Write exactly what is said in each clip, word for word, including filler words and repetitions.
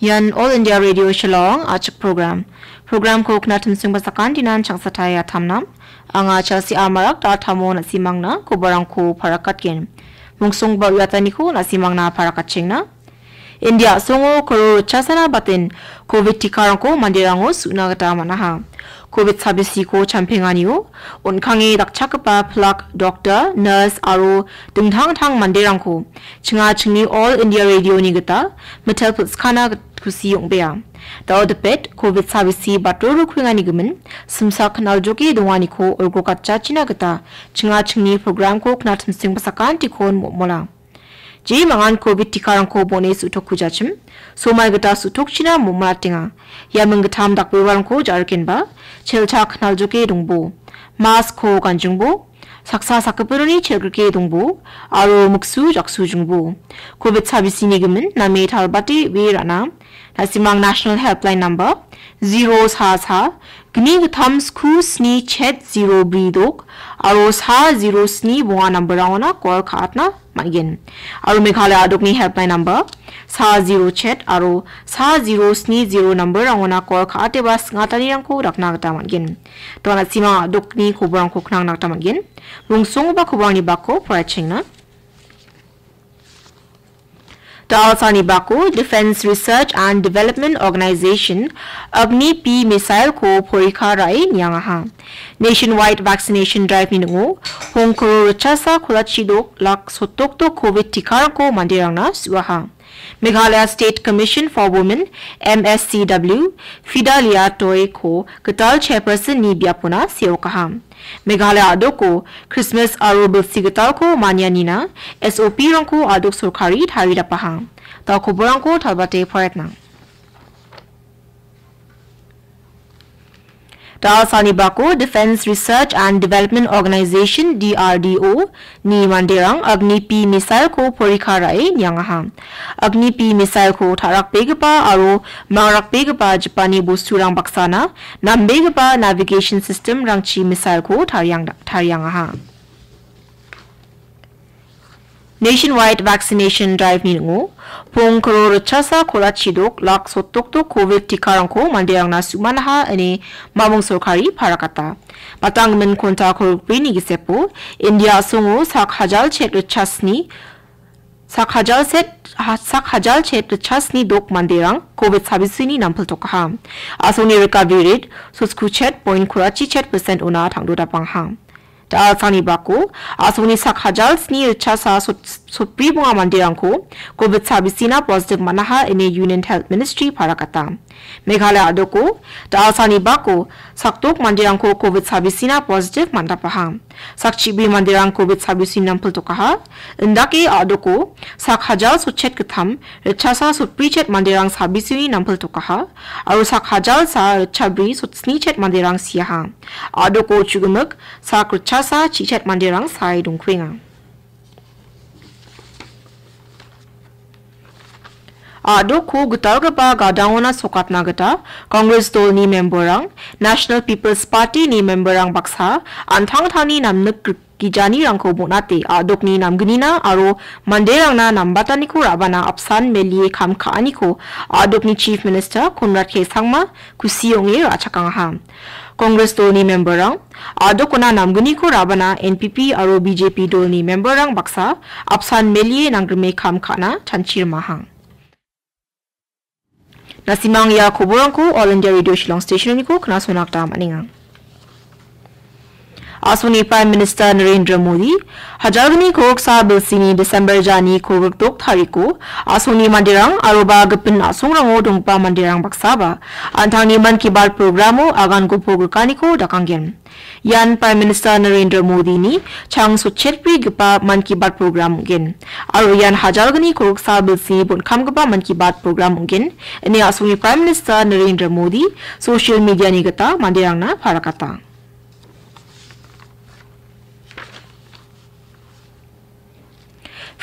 Ian All India Radio Shillong achik program. Programko knatimsing basakan dinan changsatai atamnam. Anga Chelsea Amarak da tamo na·simangna kobarangko parakatgen. Mungsongba uiataniko na·simangna parakatchengna. India a·songo koro ritchasana baten covid tikarangko manderango su·na gita man·aha. Covid sabisiko champenganio on·kange dakchakgipa pilak, doktor, nurse aro dingtang-dingtang manderangko chinga chingni All India Radio-ni gita mitel pilskana git-, kusi ong·bea. Dao dipet covid sabisi batro rukringani gimin simsak naljoke donganiko olgrokatchachina gita chinga chingni programko knatimsing basakantikon mo·mola. Jemangan covid tikarangko bone su·tokujachim, somai gita su·tokchina momolatenga. Ia minggittam dakbebarangko ja·rikenba, chelchak naljoke dongbo, mask-ko ganjingbo, saksa sakgipinoni chelgrike dongbo, aro miksu jaksujingbo. Covid sabisini gimin name talbate we ra·na, na·simang National Helpline number zero sa sa gni gittam sku sni chet zero bri dok aro sa zero sni bonga namberangona kol ka·atna man·gen. Aro Meghalaya a·dokni helpline number sa zero chet aro sa zero sni zero namberangona kol ka·ateba sing·atanirangko dakna gita man·gen. Dona simang a·dokni koborangko knangna gita man·gen. Mungsongba koborangni bako poraichengna. Dalsani bako Defence Research and Development Organization Agni P missile-ko porikha ra·e niangaha. Nationwide vaccination drive-ni ning·o pongkoro ritchasa kolachi dok lak sotokto covid tikarangko manderangna su·aha. Meghalaya State Commission for Women, M S C W, Fidelia Toi-ko gital chairperson-ni biapona seokaha. Meghalaya a·doko Krismas aro bilsi gitalko manianina S O P-rangko a·dok sorkari taridapaha. Da koborangko talbate poraitna. Dalsani bako Defence Research and Development Organisation, D R D O, ni manderang Agni P missile-ko porikha ra·e niangaha. Agni P missile-ko ta·rakbegipa aro mangrakbegipa jipani bosturang baksana nambegipa navigation system-rangchi missile-ko tariang-, tariangaha. Nationwide vaccination drive-ni ning·o pongkoro ritchasa kolachidok lak sotokto covid tikarangko manderangna su·manaha ine mamung sorkari parakata. Batanggimin konta kolgrikbrini gisepo India a·songo sak hajal chet ritchasni, sak hajal set, ha-, sak hajal chet ritchasni dok manderang covid sabisini nampiltokaha. A·songni recovery rate sotskru chet point kolachi chet percent ona tangdodapangha. Dalsani bako a·songni sak hajal sni ritchasa sot-, sotbri bonga manderangko covid sabisina positive man·aha ine Union Health Ministry parakata. Meghalaya a·doko dalsani bako sakdok manderangko covid sabisina positive man·dapaha. Sak chibri manderang covid sabisini nampiltokaha. Indake a·doko sak hajal sotchet gittam ritchasa sotbri chet manderang sabisini nampiltokaha. Aro sak hajal sa ritchabri sotsni chet manderang siaha. A·doko chugimik sak ritchasa chichet manderang sae dongkuenga. A·doko gitalgipa gadangona sokatna gita Congress dolni memberrang, National People's Party-ni memberrang baksa an·tangtangni namnik gri-, gijanirangko bon·ate a·dokni namgnina aro manderangna nambataniko ra·bana apsan melie kam ka·aniko a·dokni Chief Minister Conrad K Sangma kusi ong·e ra·chakangaha. Congress dolni memberrang a·dokona namgniko ra·bana N P P aro B J P dolni memberrang baksa apsan melie nanggrime kam ka·na chanchi rimaha. Na·simang ia koborangko All India Radio Shillong Station-oniko knasona gita man·enga. A·songni Prime Minister Narendra Modi, hajalgni kolgsa bilsini December jani kolgrikdok tariko, a·songni manderang aroba gipin a·songrango donggipa manderang baksaba, an·tangni Mann Ki Baat programo aganko pogrikaniko dakanggen. Ian Prime Minister Narendra Modi-ni chang sotchetbrigipa Mann Ki Baat program ong·gen. Aro ian hajalgni kolgsa bilsi bon·kamgipa Mann Ki Baat program ong·gen, ine a·songni Prime Minister Narendra Modi social media-ni gita manderangna parakata.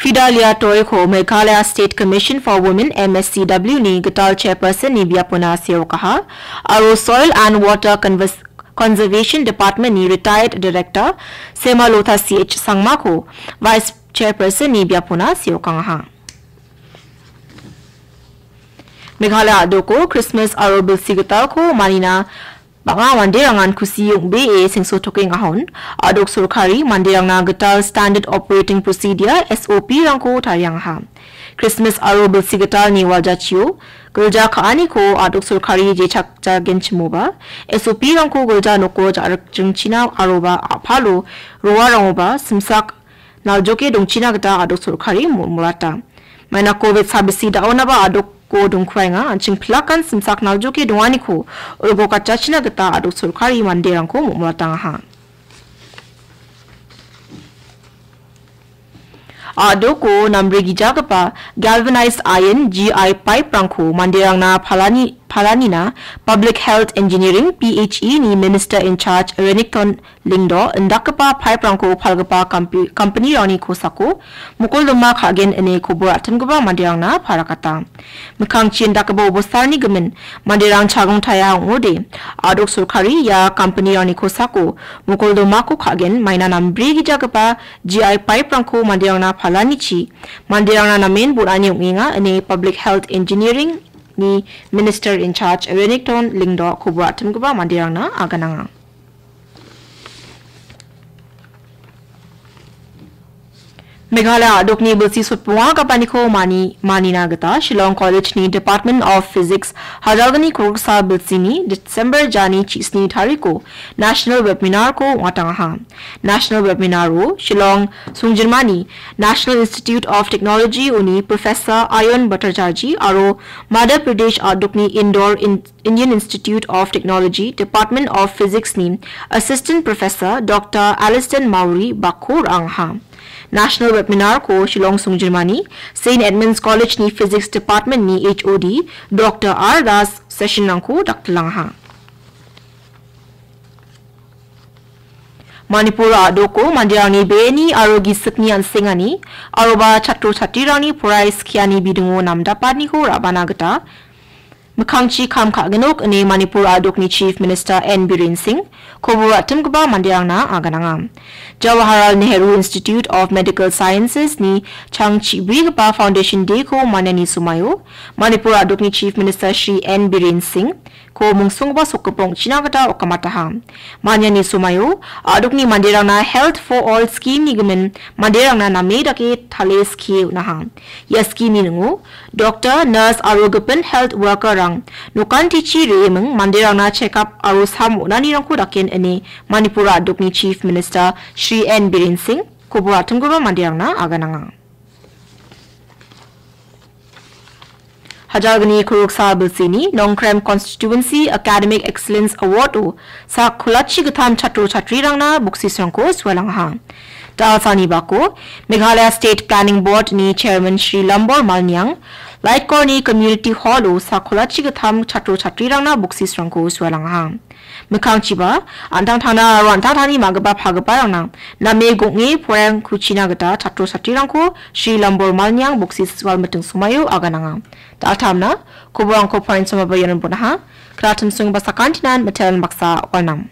Fidelia Toi-ko Meghalaya State Commission for Women, M S C W-ni gital chairperson-ni biapona seokaha, aro Soil and Water Convers-, Conservation Department-ni retired director Semalotha C H Sangma-ko vice chairperson-ni biapona seokangaha. Meghalaya a·doko Krismas aro bilsi gitalko manina bang·a manderangan kusi ong·bee sengsotokenga hon. A·dok sorkari manderangna gital Standard Operating Procedure, S O P-rangko tariangaha. Krismas aro bilsi gitalni waljachio gilja ka·aniko a·dok sorkari jechakjagenchimoba, S O P-rangko gilja noko ja·rikjringchina aroba a·palo roarangoba simsak naljoke dongchina gita a·dok sorkari mo-, molata. Maina covid sabisi da·onaba a·doko dongkraenga, an·ching pilakan simsak naljoke donganiko olgokatjachina gita a·dok sorkari manderangko mo-, molatangaha. A·doko nambre gijagipa galvanized iron G I pipe-rangko manderangna palani-, palanina Public Health Engineering, P H E ni Minister in Charge Renikton Lyngdoh indakgipa pipe-rangko palgipa kampi-, company-rangni kosako mokoldoma ka·gen ine kobor atimgipa manderangna parakata. Mikkangchi indakgipa obostarni gimin manderang chagongtaia ong·ode, a·dok sorkari ia company-rangni kosako mokoldomako ka·gen, maina nambre gijagipa G I pipe-rangko manderangna palanichi manderangna namen bon·ani ong·enga ine Public Health Engineering-ni Minister in Charge Renikton Lyngdoh kobor atimgipa manderangna agananga. Meghalaya a·dokni bilsi sotbonga gapaniko mani-, manina gita Shillong College-ni Department of Physics hajalgni kolgriksa bilsini December jani chisni tariko National Webinar-ko ong·atangaha. National Webinar-o Shillong songjinmani National Institute of Technology uni Professor Ayon Bhattacharjee aro Madhya Pradesh a·dokni Indore in-, Indian Institute of Technology, Department of Physics-ni Assistant Professor Doctor Aliston Mowry bakko ra·angaha. National Webinar-ko Shillong songjinmani Saint Edmund's College-ni Physics Department-ni H O D Doctor R Das session-rangko daktilangaha. Manipur a·doko manderangni beni aro gisikni an·sengani aroba chatro chatrirangni porai skiani bidingo namdapaniko ra·bana gita mikkangchi kam ka·ginok ine Manipur a·dokni Chief Minister N Biren Singh kobor atimgipa manderangna agananga. Jawaharlal Nehru Institute of Medical Sciences-ni chang chibrigipa Foundation Day-ko maniani somaio Manipur a·dokni Chief Minister Shri N Biren Singh ko mungsonggipa sokgipok ong·china gita okamataha. Maniani somaio a·dokni manderangna Health for All scheme-ni gimin manderangna name dake tale skie on·aha. Ia scheme-ni ning·o doctor, nurse aro gipin health worker-rang nokantichi re·eming manderangna check-up aro sam on·anirangko daken ine Manipur a·dokni Chief Minister Shri N Biren Singh kobor atimgipa manderangna agananga. Hajalgni kolgriksa bilsini Nongkrem Constituency Academic Excellence Award-o sak kolachi gittam chatro chatrirangna boksisrangko sualangaha. Dalsani bako Meghalaya State Planning Board-ni Chairman Shri Lambor Malniang, Laitkorni Community Hall-o sak kolachi gittam chatro chatrirangna boksisrangko sualangaha. Mikkangchiba, an·tangtangna aro an·tangtangni ma·gipa pagiparangna name gong·e poraiangkuchina gita chatro chatrirangko Shri Lambor Malniang boksiswal miting somaio agananga. Daltamna, koborangko porainchomaba ianon bon·aha. Kratimsongba sakantinan mitelna baksa walnam.